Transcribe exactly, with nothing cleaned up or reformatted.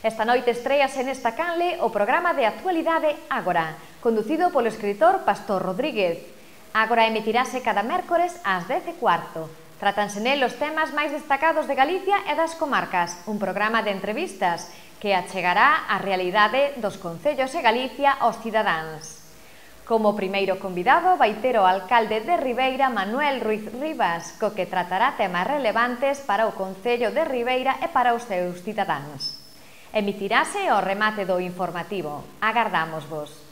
Esta noite estrease nesta canle o programa de actualidade Ágora, conducido polo escritor Pastor Rodríguez. Ágora emitirase cada mércores ás dez e cuarto. Tratanse nel os temas máis destacados de Galicia e das comarcas, un programa de entrevistas que achegará a realidade dos concellos e Galicia aos cidadáns. Como primeiro convidado vai ter o alcalde de Ribeira, Manuel Ruiz Rivas, co que tratará temas relevantes para o concello de Ribeira e para os seus cidadáns. Emitirase ao remate do informativo. Agardámosvos.